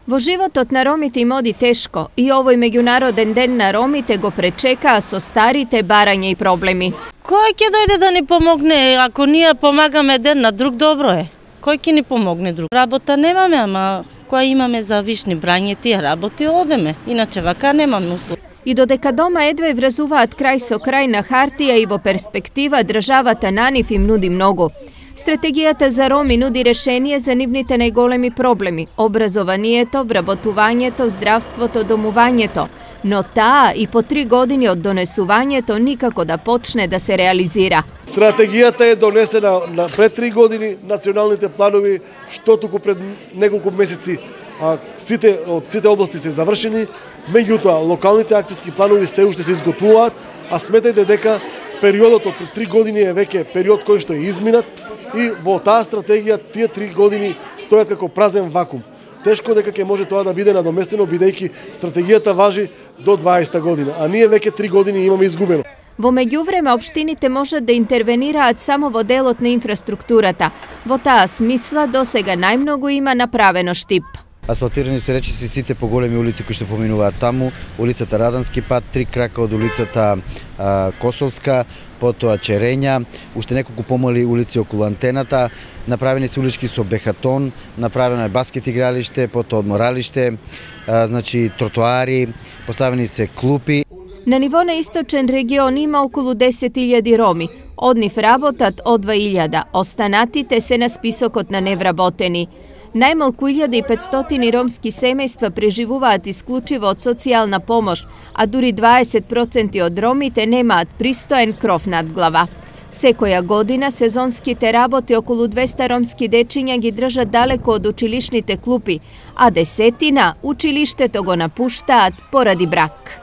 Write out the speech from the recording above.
Во животот на ромите им оди тешко и овој меѓународен ден на ромите го пречекаа со старите барања и проблеми. Кој ќе дојде да ни помогне? Ако ние помагаме еден на друг, добро е. Кој ќе ни помогне друг? Работа немаме, ама која имаме за вишни брање, тие работи одеме. Иначе вака немаме услови. И додека дома едве врзуваат крај со крај на хартија и во перспектива, државата на нив им нуди многу. Стратегијата за роми нуди решение за нивните најголеми проблеми – образованието, вработувањето, здравството, домувањето. Но таа и по 3 години од донесувањето никако да почне да се реализира. Стратегијата е донесена пред 3 години, националните планови, што туку пред неколку месеци од сите области се завршени, меѓутоа локалните акцијски планови се уште се изготвуваат, а сметајте дека периодот од 3 години е веќе период кој што е изминат и во таа стратегија тие 3 години стојат како празен вакуум. Тешко дека ќе може тоа да биде надоместено, бидејќи стратегијата важи до 20 година, а ние веќе 3 години имаме изгубено. Во меѓувреме, општините можат да интервенираат само во делот на инфраструктурата. Во таа смисла досега најмногу има направено штип. Асфалтирани се речиси сите поголеми улици кои што поминуваат таму, улицата Радански пат, 3 крака од улицата Косовска, потоа Черења, уште неколку помали улици околу антената, направени се улички со бехатон, направено е баскет игралиште, потоа одморалиште, значи тротоари, поставени се клупи. На ниво на источен регион има околу 10.000 роми. Од нив работат од 2.000, останатите се на списокот на невработени. Најмалку 1500 ромски семејства преживуваат исклучиво од социјална помош, а дури 20% од ромите немаат пристоен кров над глава. Секоја година сезонските работи околу 200 ромски дечиња ги држат далеко од училишните клупи, а 10 училиштето го напуштаат поради брак.